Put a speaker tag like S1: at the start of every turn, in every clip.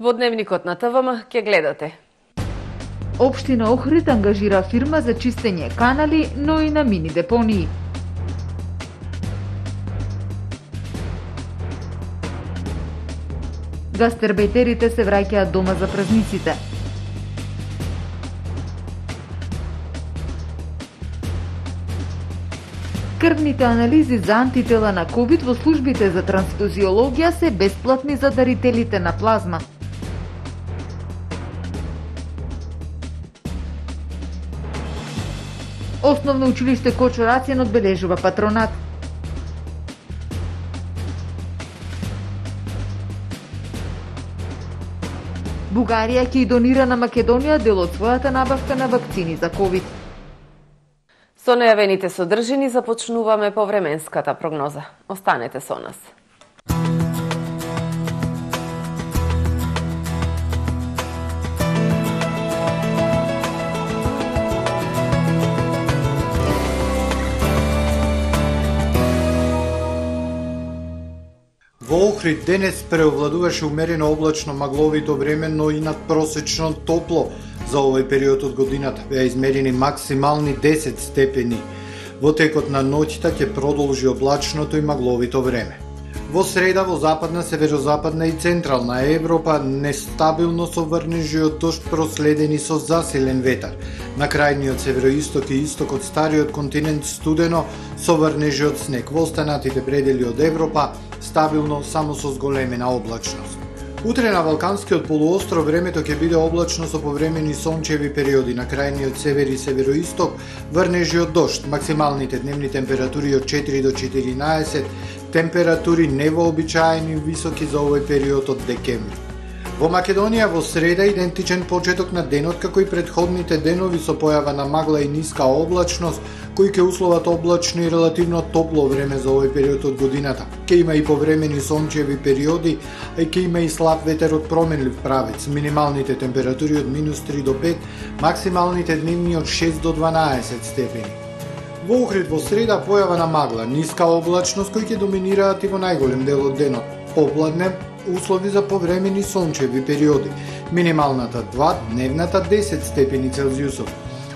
S1: Во дневникот на ТВМ ќе гледате.
S2: Општина Охрид ангажира фирма за чистење канали, но и на мини депонии. Гастербејтерите се враќаат дома за празниците. Крвните анализи за антитела на ковид во службите за трансфузиологија се бесплатни за дарителите на плазма. Основно училиште Кочо Рацин одбележува патронат. Бугарија ќе и донира на Македонија дел од својата набавка на вакцини за ковид.
S1: Со најавените содржини започнуваме повременската прогноза. Останете со нас.
S3: Во Охрид денес преовладуваше умерено облачно магловито време, но и надпросечно топло. За овој период од годината беа измерени максимални 10 степени. Во текот на ноќта ќе продолжи облачното и магловито време. Во среда во западна, северозападна и централна Европа нестабилно со врнежи од дожд проследени со засилен ветар. На крајниот североисток и исток од стариот континент студено со врнежи од снег. Во останатите предели од Европа стабилно само со зголемена облачност. Утре на Балканскиот полуостров времето ќе биде облачно со повремени сончеви периоди. На крајниот север и североисток врнежи од дожд. Максималните дневни температури од 4 до 14, температури невообичаени високи за овој период од декември. Во Македонија во среда идентичен почеток на денот како и претходните денови со појава на магла и ниска облачност, кои ќе условат облачно и релативно топло време за овој период од годината. Ќе има и повремени сончеви периоди, а ќе има и слаб ветер од променлив правец. Минималните температури од -3 до 5, максималните дневни од 6 до 12 степени. Во Охрид во среда појава на магла, ниска облачност кои ќе доминираат и во најголем дел од денот. Попладне услови за повремени сончеви периоди. Минималната 2, дневната 10 степени Целзиусов.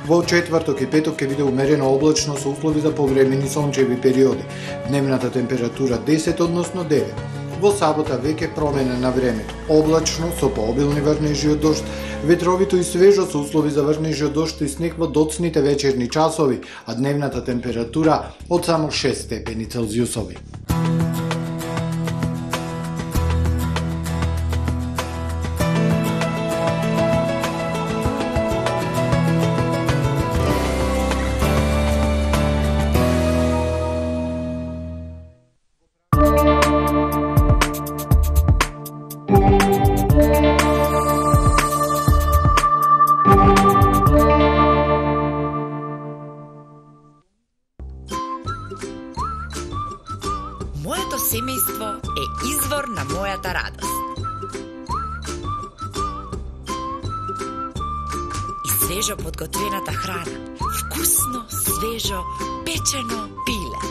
S3: Во четврток и петок ќе биде умерено облачно со услови за повремени сончеви периоди. Дневната температура 10 односно 9. Во сабота веќе промена на времето. Облачно со пообилни врнежи од дожд, ветровито и свежо со услови за врнежи од дожд и снег во доцните вечерни часови, а дневната температура од само 6 степени Целзиусови.
S4: Моето семејство е извор на мојата радост. И свежо подготвената храна, вкусно, свежо, печено пиле.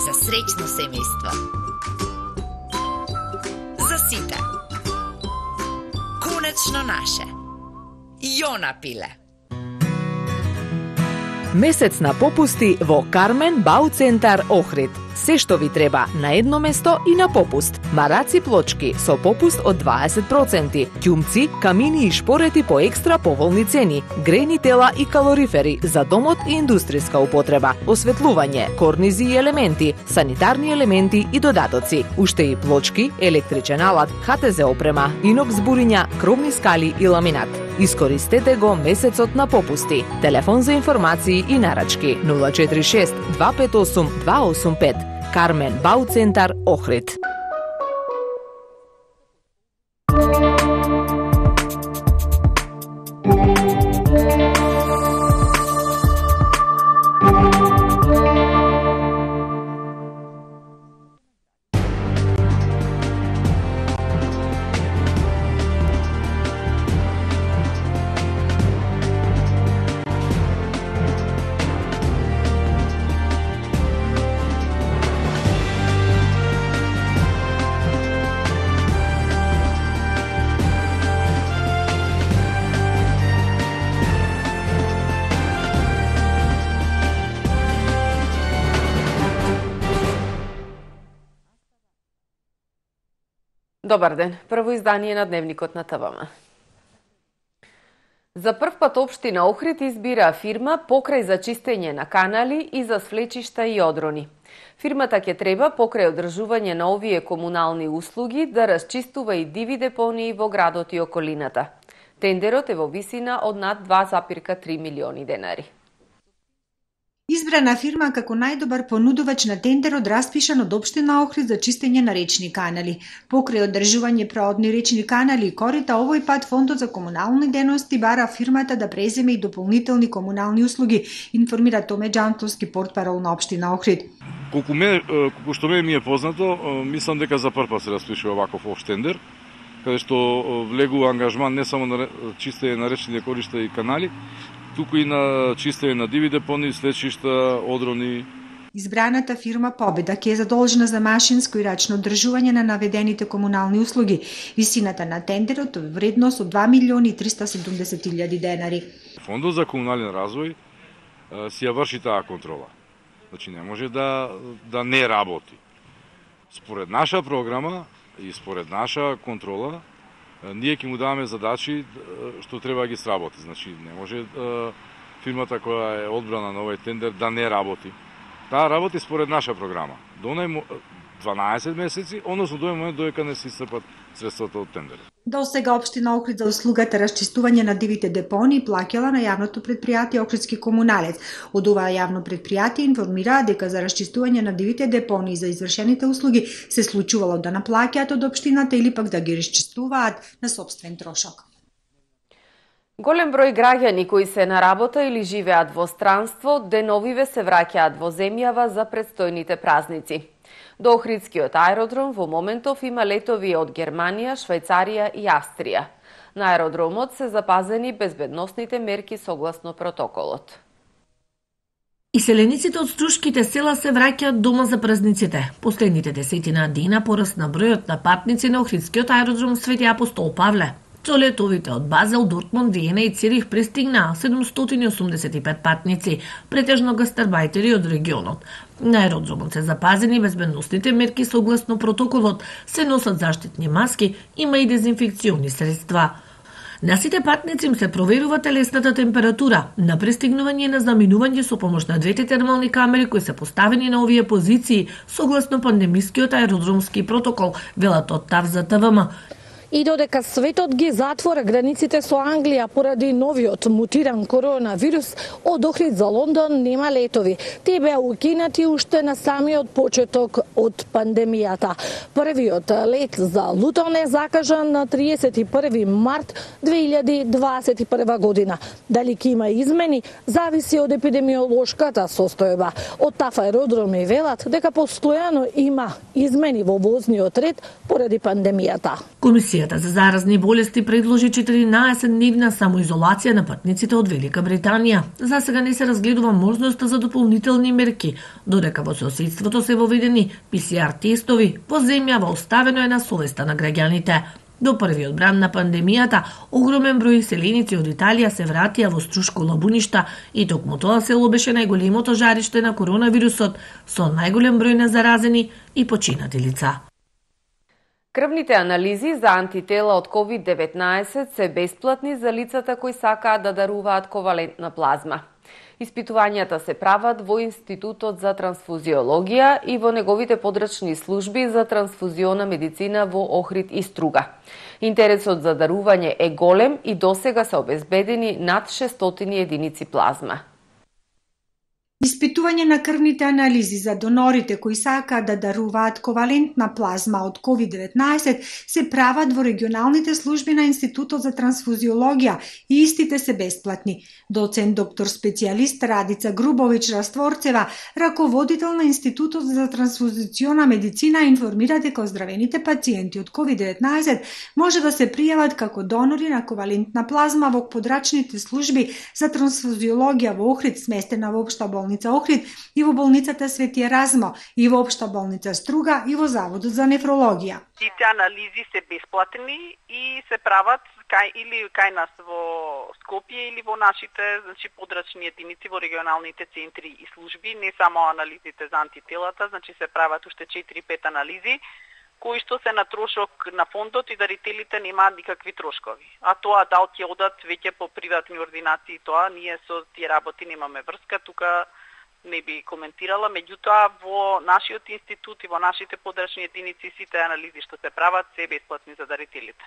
S4: За среќно семејство. За сите. Конечно наше. Јона пиле.
S5: Месец на попусти во Кармен Бау Центар Охрид. Се што ви треба на едно место и на попуст. Мараци плочки со попуст од 20%, ќумци, камини и шпорети по екстра поволни цени, грејни тела и калорифери за домот и индустријска употреба, осветлување, корнизи и елементи, санитарни елементи и додатоци, уште и плочки, електричен алат, ХТЗ опрема, инокс буриња, кровни скали и ламинат. Искористете го месецот на попусти. Телефон за информации и нарачки 046 258 285. Кармен Бау Центар Охрид.
S1: Добар ден, прво издание на Дневникот на ТВМ. За прв пат општина Охрид избира фирма покрај за чистење на канали и за свлечишта и одрони. Фирмата ќе треба покрај одржување на овие комунални услуги да расчистува и диви депонии во градот и околината. Тендерот е во висина од над 2,3 милиони денари.
S6: Избрана фирма како најдобар понудувач на тендерот распишан од општина Охрид за чистење на речни канали. Покрај одржување проодни речни канали и корита, овој пат Фондот за комунални дејности бара фирмата да преземе и дополнителни комунални услуги, информира Томе Џантовски, портпарол на општина Охрид.
S7: Колку што ми е познато, мислам дека за прв пат се распишува ваков општ тендер, каде што влегува ангажман не само на чистење на речни коришта и канали, туку и на чистење на диви депонии, слечишта, одрони.
S6: Избраната фирма Победа ќе е задолжена за машинско и рачно одржување на наведените комунални услуги. Висината на тендерот е вредност од 2.370.000 денари.
S7: Фондот за комунален развој си ја врши таа контрола. Значи не може да не работи. Според наша програма и според наша контрола, ние ќе му даваме задачи што треба да ги сработи. Значи не може фирмата која е одбрана на овој тендер да не работи. Таа работи според наша програма. До 12 месеци, односно до момент додека не се исцрпат средствата од тендерот.
S6: До сега општина Охрид за услугата расчистување на дивите депонии плаќала на јавното предпријатие Охридски комуналец. Од ова јавно предпријатие информираа дека за расчистување на дивите депонии за извршените услуги се случувало да наплаќаат од општината или пак да ги расчистуваат на сопствен трошок.
S1: Голем број граѓани кои се на работа или живеат во странство, деновиве се враќаат во земјава за предстојните празници. До Охридскиот аеродром во моментов има летови од Германија, Швајцарија и Австрија. На аеродромот се запазени безбедносните мерки согласно протоколот.
S8: Иселениците од струшките села се враќаат дома за празниците. Последните 10 дена порасна бројот на патници на Охридскиот аеродром Свети Апостол Павле. Со летовите од Базел, Дортмунд, Виена и Цирих пристигнаа 785 патници, претежно гастарбајтери од регионот. На аеродромот се запазени безбедносните мерки согласно протоколот, се носат заштитни маски, има и дезинфекциони средства. На сите патници им се проверува телесната температура, на пристигнување и на заминување со помош на двете термални камери кои се поставени на овие позиции согласно пандемискиот аеродромски протокол, велат од ТАВ за ТВМ.
S9: И додека светот ги затвора границите со Англија поради новиот мутиран коронавирус, од Охрид за Лондон нема летови. Те беа укинати уште на самиот почеток од пандемијата. Првиот лет за Лутон е закажан на 31 март 2021 година. Дали ќе има измени, зависи од епидемиолошката состојба. Од ТАФ аеродроми велат дека постојано има измени во возниот ред поради пандемијата.
S8: Комисијата за заразни болести предложи 14-дневна самоизолација на патниците од Велика Британија. За сега не се разгледува можноста за дополнителни мерки, додека во соседството се воведени ПСР тестови, во земјава оставено е на совеста на граѓаните. До првиот бран на пандемијата, огромен број селеници од Италија се вратија во Струшко Лабуништа и токму тоа село беше најголемото жариште на коронавирусот, со најголем број на заразени и починати лица.
S1: Крвните анализи за антитела од COVID-19 се бесплатни за лицата кои сакаат да даруваат ковалентна плазма. Испитувањата се прават во Институтот за трансфузиологија и во неговите подрачни служби за трансфузиона медицина во Охрид и Струга. Интересот за дарување е голем и досега се обезбедени над 600 единици плазма.
S6: Испитување на крвните анализи за донорите кои сакаат да даруваат ковалентна плазма од COVID-19 се прават во регионалните служби на Институтот за трансфузиологија и истите се бесплатни. Доцент доктор специјалист Радица Грубович Растворцева, раководител на Институтот за трансфузициона медицина, информира дека оздравените пациенти од COVID-19 може да се пријават како донори на ковалентна плазма во подрачните служби за трансфузиологија во Охрид, сместена во општа болница Охрид и во болницата Свети Еразмо, и во општа болница Струга и во Заводот за нефрологија.
S10: Тите анализи се бесплатни и се прават кај нас во Скопје или во нашите подрачни единици во регионалните центри и служби, не само анализите за антителата, се прават уште 4-5 анализи кои што се на трошок на фондот и дарителите немаат никакви трошкови. А тоа дал ќе одат веќе по приватни ординации, тоа ние со тие работи немаме врска, тука не би коментирала, меѓутоа во нашиот институт и во нашите подрачни единици сите анализи што се прават се бесплатни за дарителите.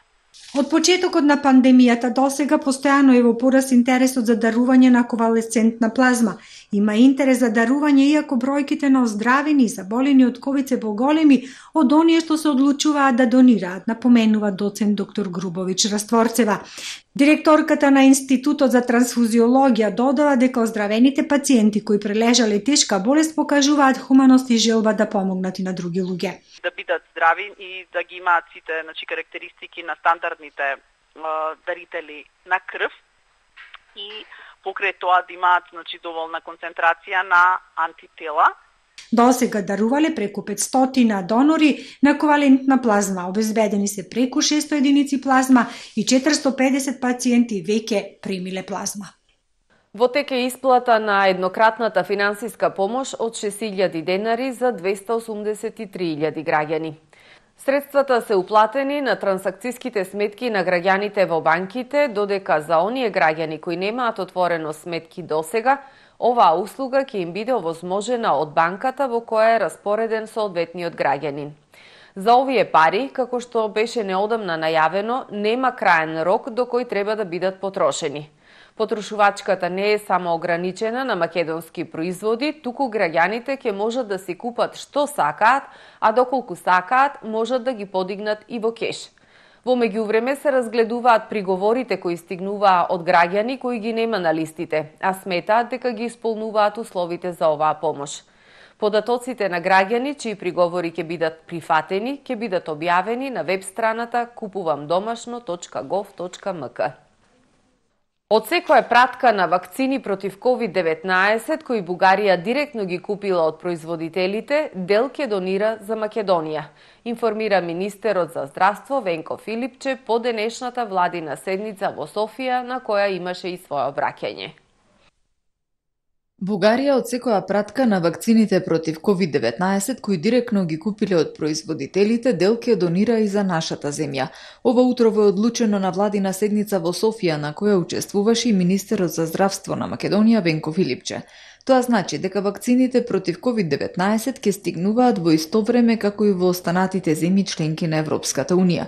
S6: Од почетокот на пандемијата досега постојано е во пораст интересот за дарување на конвалесцентна плазма. Има интерес за дарување иако бројките на оздравени и заболени од ковид се поголеми од оние што се одлучуваат да донираат, напоменува доцент доктор Грубович Растворцева. Директорката на Институтот за трансфузиологија додава дека оздравените пациенти кои прележале тешка болест покажуваат хуманост и желба да помогнат и на други луѓе.
S10: Да бидат здрави и да ги имаат сите карактеристики на стандардните дарители на крв и покрај тоа да имаат доволна концентрација на антитела.
S6: Досега дарувале преку 500 донори на ковалентна плазма, обезбедени се преку 600 единици плазма и 450 пациенти веќе примиле плазма.
S1: Во тек е исплата на еднократната финансиска помош од 6.000 денари за 283.000 граѓани. Средствата се уплатени на трансакцијските сметки на граѓаните во банките, додека за оние граѓани кои немаат отворено сметки досега, оваа услуга ќе им биде овозможена од банката во која е распореден соодветниот граѓанин. За овие пари, како што беше неодамна најавено, нема краен рок до кој треба да бидат потрошени. Потрошувачката не е само ограничена на македонски производи, туку граѓаните ќе можат да си купат што сакаат, а доколку сакаат, можат да ги подигнат и во кеш. Во меѓувреме се разгледуваат приговорите кои стигнуваа од граѓани кои ги нема на листите, а сметаат дека ги исполнуваат условите за оваа помош. Податоците на граѓани чии приговори ќе бидат прифатени, ќе бидат објавени на веб страната kupuvamdomašno.gov.mk. Од секоја пратка на вакцини против COVID-19 кои Бугарија директно ги купила од производителите, дел ќе донира за Македонија, информира министерот за здравство Венко Филипче по денешната владина седница во Софија на која имаше и свое обраќање.
S2: Бугарија од секоја пратка на вакцините против COVID-19 кои директно ги купиле од производителите, дел ќе донира и за нашата земја. Ова утрово е одлучено на владина седница во Софија на која учествуваше и министерот за здравство на Македонија Венко Филипче. Тоа значи дека вакцините против COVID-19 ќе стигнуваат во исто време како и во останатите земји членки на Европската Унија.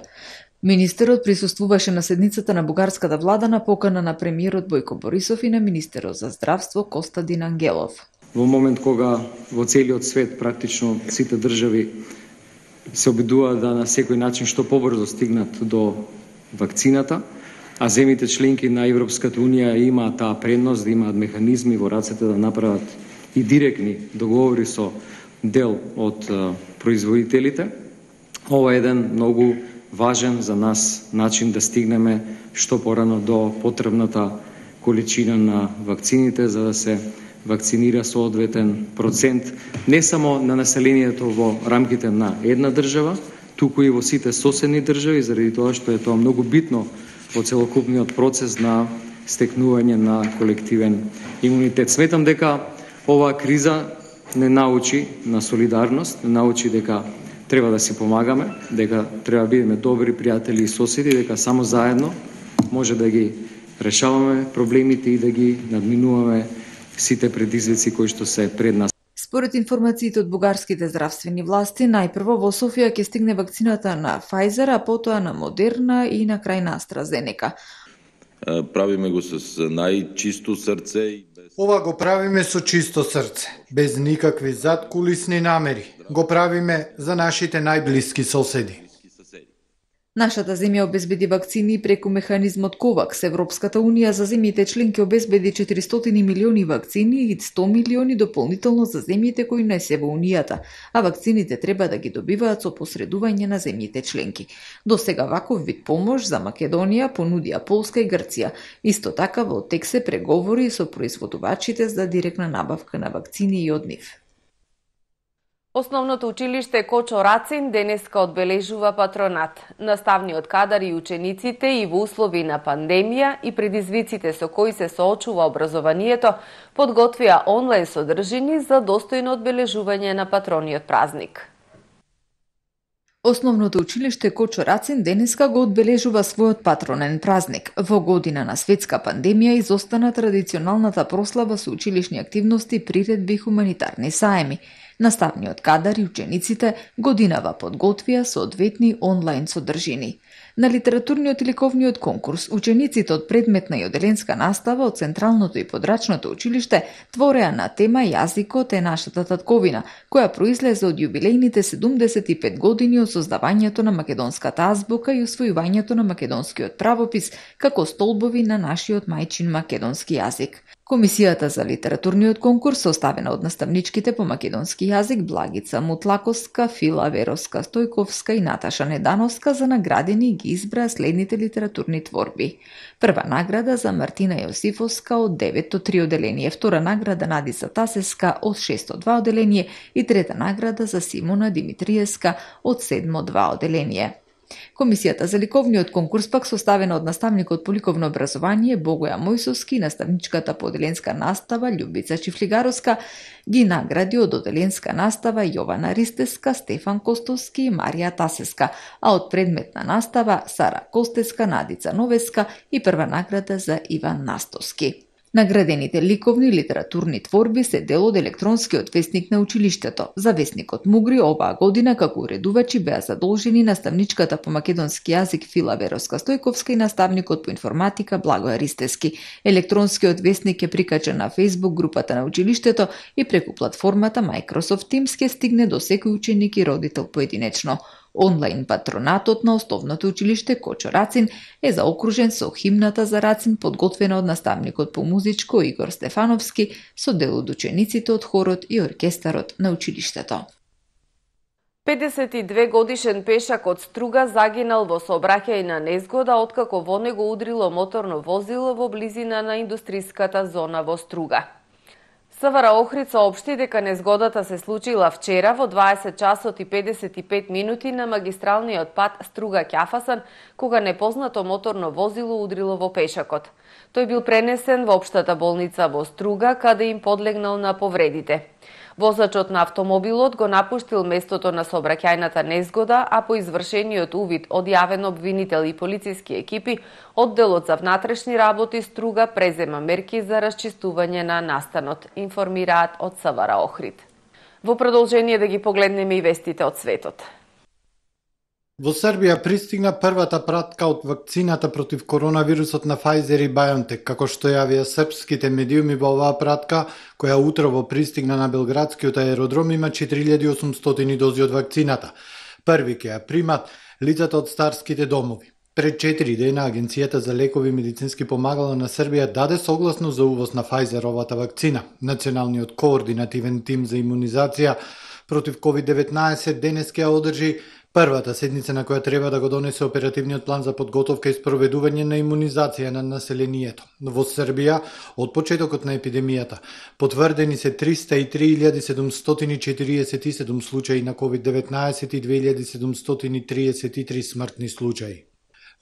S2: Министерот присуствуваше на седницата на бугарската влада на покана на премиерот Бојко Борисов и на министерот за здравство Костадин Ангелов.
S11: Во момент кога во целиот свет практично сите држави се обидуваат да на секој начин што побрзо стигнат до вакцината, а земјите членки на Европската Унија имаат таа предност да имаат механизми во рацете да направат и директни договори со дел од производителите. Ова е еден многу важен за нас начин да стигнеме што порано до потребната количина на вакцините за да се вакцинира соодветен процент не само на населението во рамките на една држава, туку и во сите соседни држави, заради тоа што е тоа многу битно во целокупниот процес на стекнување на колективен имунитет. Сметам дека оваа криза не научи на солидарност, не научи дека треба да си помагаме, дека треба да бидеме добри пријатели и соседи, дека само заедно може да ги решаваме проблемите и да ги надминуваме сите предизвици кои што се пред нас.
S2: Според информациите од бугарските здравствени власти, најпрво во Софија ќе стигне вакцината на Pfizer, а потоа на Moderna и на крај на AstraZeneca.
S12: Правиме го с најчисто срце.
S3: Ова го правиме со чисто срце, без никакви задкулисни намери. Го правиме за нашите најблиски соседи.
S2: Нашата земја обезбеди вакцини преку механизмот COVAX. Европската Унија за земјите членки обезбеди 400 милиони вакцини и 100 милиони дополнително за земјите кои не се во Унијата, а вакцините треба да ги добиваат со посредување на земјите членки. До сега ваков вид помош за Македонија понудија Полска и Грција. Исто така во тек се преговори со производувачите за директна набавка на вакцини и од нив.
S1: Основното училиште Кочо Рацин денеска одбележува патронат. Наставниот кадар и учениците и во услови на пандемија и предизвиците со кои се соочува образованието подготвија онлайн содржини за достојно одбележување на патрониот празник.
S2: Основното училиште Кочо Рацин денеска го одбележува својот патронен празник. Во година на светска пандемија изостана традиционалната прослава со училишни активности, приредби и хуманитарни саеми. Наставниот кадар и учениците годинава подготвија соодветни онлайн содржини. На литературниот и ликовниот конкурс, учениците од предметна и оделенска настава од Централното и Подрачното училиште твореа на тема Јазикот е нашата татковина, која произлезе од јубилејните 75 години од создавањето на македонската азбука и усвојувањето на македонскиот правопис како столбови на нашиот мајчин македонски јазик. Комисијата за литературниот конкурс, составена од наставничките по македонски јазик Благица Мутлаковска, Фила Веровска Стојковска и Наташа Недановска, за наградени ги избра следните литературни творби. Прва награда за Мартина Јосифовска од 903 оделение, втора награда Надица Тасеска од 602 оделение и трета награда за Симона Димитриевска од 702 оделение. Комисијата за ликовниот конкурс пак, составена од наставникот по ликовно образование Богоја Мојсовски и наставничката по оделенска настава Љубица Чифлигаровска, ги награди од оделенска настава Јована Ристеска, Стефан Костовски и Марија Тасеска, а од предметна настава Сара Костеска, Надица Новеска и прва награда за Иван Настовски. Наградените ликовни и литературни творби се дел од електронскиот весник на училиштето. За весникот Мугри оваа година како уредувачи беа задолжени наставничката по македонски јазик Фила Веровска Стојковска и наставникот по информатика Благоја Ристески. Електронскиот весник е прикачен на Facebook групата на училиштето и преку платформата Microsoft Teams ќе стигне до секој ученик и родител поединечно. Онлайн патронатот на основното училиште Кочо Рацин е заокружен со химната за Рацин, подготвена од наставникот по музичко Игор Стефановски, со дел од учениците од хорот и оркестарот на училиштето.
S1: 52 годишен пешак од Струга загинал во сообраќајна незгода откако во него удрило моторно возило во близина на индустријската зона во Струга. СВР Охрид соопшти дека незгодата се случила вчера во 20 часот и 55 минути на магистралниот пат Струга-Ќафасан, кога непознато моторно возило удрило во пешакот. Тој бил пренесен во општата болница во Струга, каде им подлегнал на повредите. Возачот на автомобилот го напуштил местото на сообраќајната незгода, а по извршениот увид од јавен обвинител и полициски екипи, одделот за внатрешни работи Струга презема мерки за расчистување на настанот, информираат од СВР Охрид. Во продолжение да ги погледнеме и вестите од светот.
S3: Во Србија пристигна првата пратка од вакцината против коронавирусот на Pfizer и BioNTech, како што јавија српските медиуми. Во оваа пратка, која утрово пристигна на белградскиот аеродром, има 4800 дози од вакцината. Први ќе ја примат лицата од старските домови. Пред 4 дена Агенцијата за лекови и медицински помагала на Србија даде согласно за увоз на Pfizer-овата вакцина. Националниот координативен тим за имунизација против COVID-19 денес ќе одржи првата седница на која треба да го донесе оперативниот план за подготовка и спроведување на имунизација на населението. Во Србија, од почетокот на епидемијата, потврдени се 303.747 случаи на COVID-19 и 2733 смртни случаи.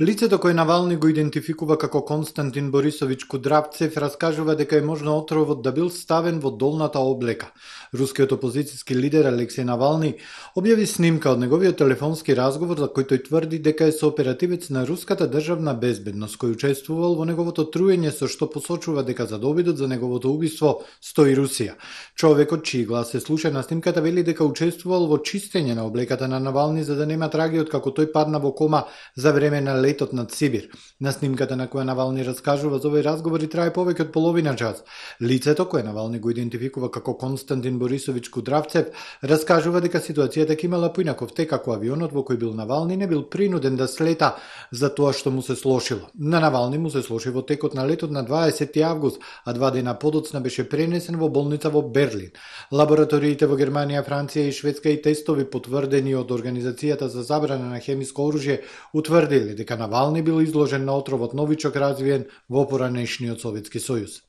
S3: Лицето кој Навални го идентификува како Константин Борисович Кудравцев раскажува дека е можно отровот да бил ставен во долната облека. Рускиот опозицијски лидер Алексеј Навални објави снимка од неговиот телефонски разговор за кој тој тврди дека е сооперативец на руската државна безбедност кој учествувал во неговото труење, со што посочува дека за обидот за неговото убиство стои Русија. Човекот чиј глас се слуша на снимката вели дека учествувал во чистење на облеката на Навални за да нема трагија како тој падна во кома за време на летот над Сибир. На снимката на која Навални раскажува за овој разговор и трае повеќе од половина час. Лицето кое Навални го идентификува како Константин Борисович Кудравцев раскажува дека ситуацијата ќе имала поинаков тек ако авионот во кој бил Навални не бил принуден да слета за тоа што му се слошило. На Навални му се слоши во текот на летот на 20 август, а 2 дена подоцна беше пренесен во болница во Берлин. Лабораториите во Германија, Франција и Шведска и тестови потврдени од Организацијата за забрана на хемиско оружје утврдиле дека Навални бил изложен на отровот новичок развиен во поранешниот Советски Сојуз.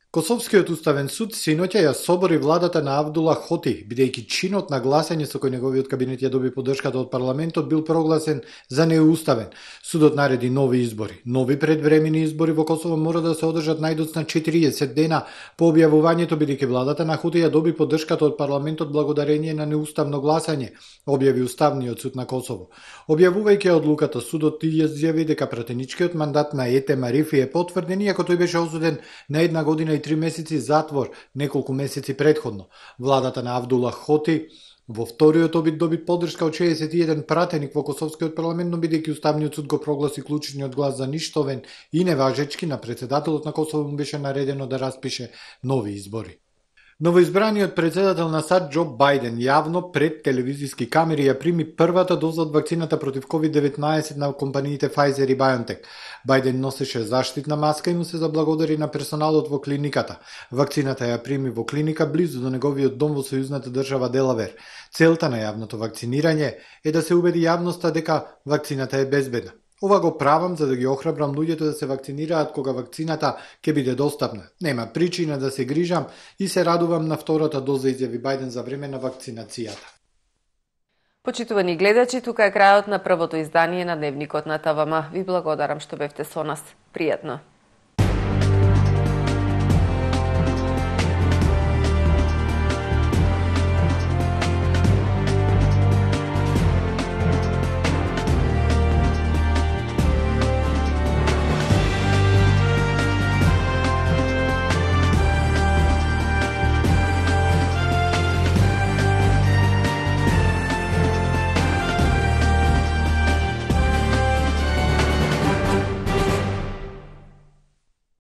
S3: Косовскиот уставен суд синоќа ја собори владата на Авдула Хоти, бидејќи чинот на гласање со кој неговиот кабинет ја доби поддршката од парламентот бил прогласен за неуставен. Судот нареди нови избори. Нови предвремени избори во Косово мора да се одржат најдоцна 40 дена по објавувањето, бидејќи владата на Хоти ја доби поддршката од парламентот благодарение на неуставно гласање, објави Уставниот суд на Косово. Објавувајќи одлуката, судот изјави дека пратеничкиот мандат на Ете Марифи е потврден, иако тој беше осуден на 1 година и 3 месеци затвор неколку месеци предходно. Владата на Авдула Хоти во вториот обид доби поддршка од 61 пратеник во Косовскиот парламент, но бидејќи Уставниот суд го прогласи клучниот глас за ништовен и неважечки, на председателот на Косово му беше наредено да распише нови избори. Новоизбраниот председател на САД Џо Бајден јавно пред телевизиски камери ја прими првата доза од вакцината против COVID-19 на компаниите Pfizer и BioNTech. Бајден носеше заштитна маска и му се заблагодари на персоналот во клиниката. Вакцината ја прими во клиника близу до неговиот дом во сојузната држава Делавер. Целта на јавното вакцинирање е да се убеди јавноста дека вакцината е безбедна. Ова го правам за да ги охрабрам луѓето да се вакцинираат кога вакцината ќе биде достапна. Нема причина да се грижам и се радувам на втората доза, изјави Бајден за време на вакцинацијата.
S1: Почитувани гледачи, тука е крајот на првото издание на Дневникот на ТВМ. Ви благодарам што бевте со нас. Пријатно.